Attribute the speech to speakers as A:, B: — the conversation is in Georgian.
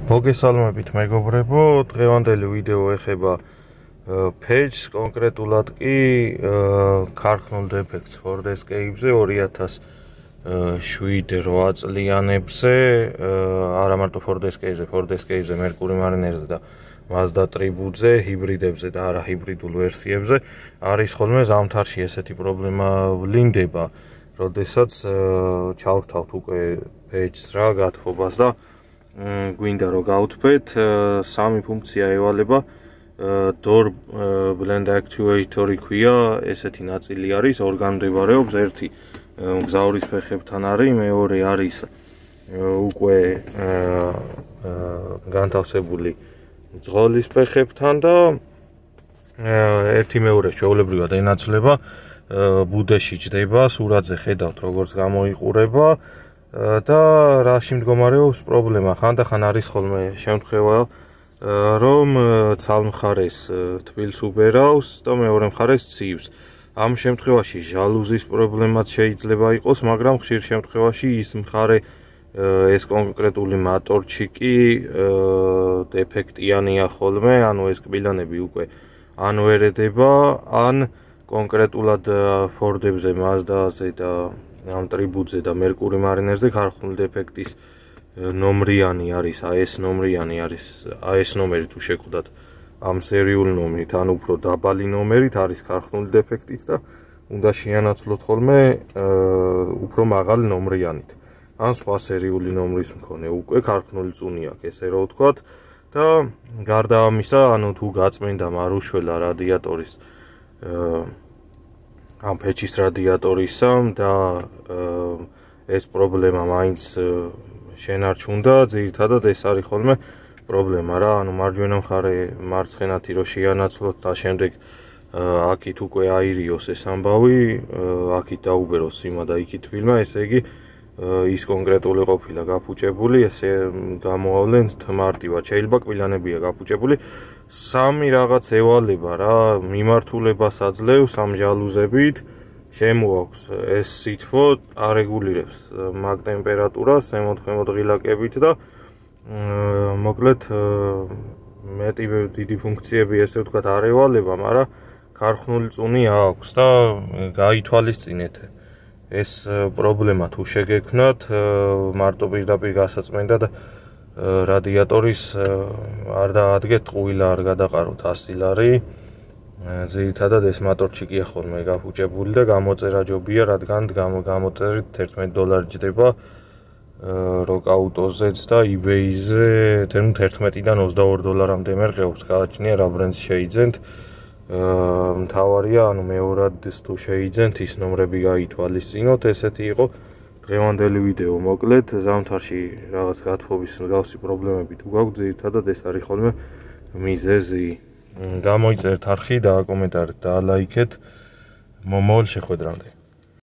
A: მოგესალმებით მეგობრებო, დღევანდელი ვიდეო ეხება page-ს, კონკრეტულად კი ქარხნულ დეფექტს Ford Escape-ზე 2007-8 წლიანებზე, არა მარტო Ford Escape-ზე, Mercury Mariner-ზე და Mazda Tribute-ზე, ჰიბრიდებზე და არა ჰიბრიდულ ვერსიებზე არის ხოლმე ზამთარში ესეთი პრობლემა ვლინდება, როდესაც ჩავრთავთ უკვე page-ს რა გათხოვებას და გვინდა რომ გავთქვეთ, სამი ფუნქცია ევალება, door blend actuator-ი ქვია, ესეთი ნაწილი არის, ორგან მდებარეობს, ერთი მგზავრის ფეხებთან არის, მეორე არის უკვე განთავსებული მძღოლის ფეხებთან და ერთი მეორე ჩვეულებრივად ენაცვლება, ბუდეში ჯდება, სურათზე ხედავთ როგორც გამოიყურება და რაში მდგომარეობს პრობლემა, ხანდახან არის ხოლმე შემთხვევა, რომ ცალმხარეს თბილს უბერავს და მეორე მხარეს ცივს. ამ შემთხვევაში ჟალუზის პრობლემაც შეიძლება იყოს, მაგრამ ხშირ შემთხვევაში ის მხარე, ეს კონკრეტული მატორჩიკი დეფექტიანია ხოლმე, ანუ ეს კბილანები უკვე ან ვერ ედება, ან კონკრეტულად Ford-ებზე, Mazda-ზე და ამ Tribute-ზე და Mercury Mariner-ზე ქარხნული დეფექტის ნომრიანი არის, AS ნომრიანი არის, AS ნომერი თუ შეგხვდათ ამ სერიული ნომრით, ან უფრო დაბალი ნომერით არის ქარხნული დეფექტიც და უნდა შეანაცვლოთ ხოლმე უფრო მაღალი ნომრიანით. ან სხვა სერიული ნომრის მქონე უკვე ქარხნული წუნი აქვს, ესე რომ ვთქვათ და გარდა ამისა, ანუ თუ გაწმენდა მარუშველა რადიატორის ამ ფეჩის რადიატორისა და ეს პრობლემა მაინც შენარჩუნდა, ძირითადად ეს არის ხოლმე პრობლემა რა, ანუ მარჯვენა მხარე მარცხენათი რო შეანაცვლოთ და შემდეგ აქით უკვე აირიოს ეს ამბავი, აქით დაუბეროს სიმა და იქით თბილმა, ესე იგი ის კონკრეტული ყოფილა გაფუჭებული, ესე გამოავლენთ მარტივად. შეიძლება კბილანებია გაფუჭებული. სამი რაღაც ევალება რა, მიმართულებას აძლევს ამ ჟალუზებით, შემოაქვს ეს სითბო, არეგულირებს მაგ ტემპერატურას, ზემოთ-ქვემოთ ღილაკებით და მოკლედ მეტი დიდი ფუნქციები ესე ვთქვათ არ ევალება, მაგრამ ქარხნული წუნი აქვს და გაითვალისწინეთ. ეს პრობლემა თუ შეგექმნათ, მარტო პირდაპირ გასაწმენდად რადიატორის არ დაადგეთ ყვილა, არ გადაყაროთ 100 ლარი. ძირითადად ეს მატორჩიკია ხოლმე გაფუჭებული და გამოწერა ჯობია, რადგან გამოწერით $11 ჯდება როკაუტოზეც და eBay-ზე 11-დან $22-მდე მერყეობს, გააჩნია რა ბრენდს შეიძენთ. მთავარია, ანუ მეორად თუ შეიძენთ, ის ნომრები გაითვალისწინოთ. ესეთი იყო დღევანდელი ვიდეო, მოკლედ ზამთარში რაღაც გათხოვის მსგავსი პრობლემები თუ გაქვთ, ძირითადად ეს არის ხოლმე მიზეზი. გამოიწერთ არხი, დააკომენტარეთ და ლაიქეთ. მომავალ შეხვედრამდე.